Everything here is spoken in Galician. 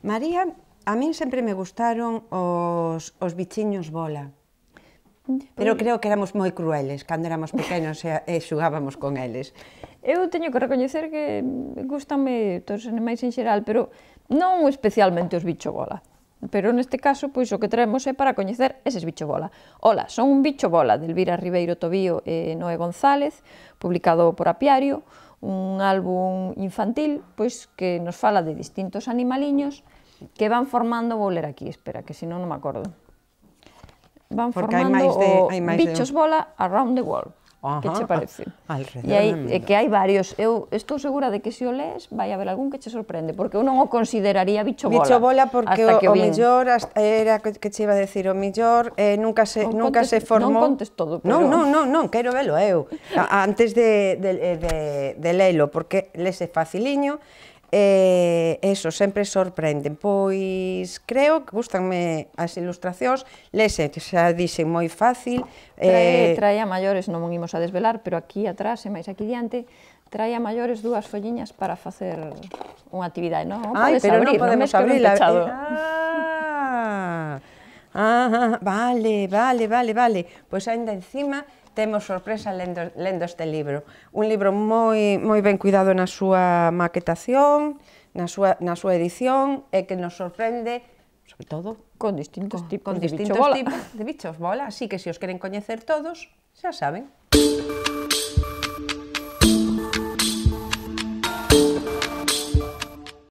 María, a min sempre me gustaron os bichiños bola. Pero creo que éramos moi crueles cando éramos pequenos e xugábamos con eles. Eu teño que recoñecer que gustanme todos os animais en xeral, pero non especialmente os bicho bola. Pero neste caso, pois o que traemos é para coñecer eses bicho bola. Ola, son un bicho bola de Elvira Ribeiro Tobío e Noé González, publicado por Apiario, un álbum infantil, pois que nos fala de distintos animaliños que van formando, vou ler aquí, espera, que senón non me acordo. Van formando bichos bola around the world. Que che parece? E que hai varios. Eu estou segura de que se o lees vai haber algún que che sorprende, porque eu non o consideraría bicho bola. Bicho bola porque o mellor, era que che iba a decir, o mellor nunca se formou... Non contes todo, pero... Non, quero velo eu, antes de lelo, porque lese faciliño, eso, sempre sorprenden. Pois creo que gustanme as ilustracións, lese, xa dixen, moi fácil. Trae a maiores, non imos a desvelar, pero aquí atrás e máis aquí diante, trae a maiores dúas folliñas para facer unha actividade, non? Ai, pero non podemos abrila. Vale. Pois ainda encima temos sorpresa lendo este libro. Un libro moi ben cuidado na súa maquetación, na súa edición, e que nos sorprende, sobre todo, con distintos tipos de bichos bola. Así que se os queren coñecer todos, xa saben.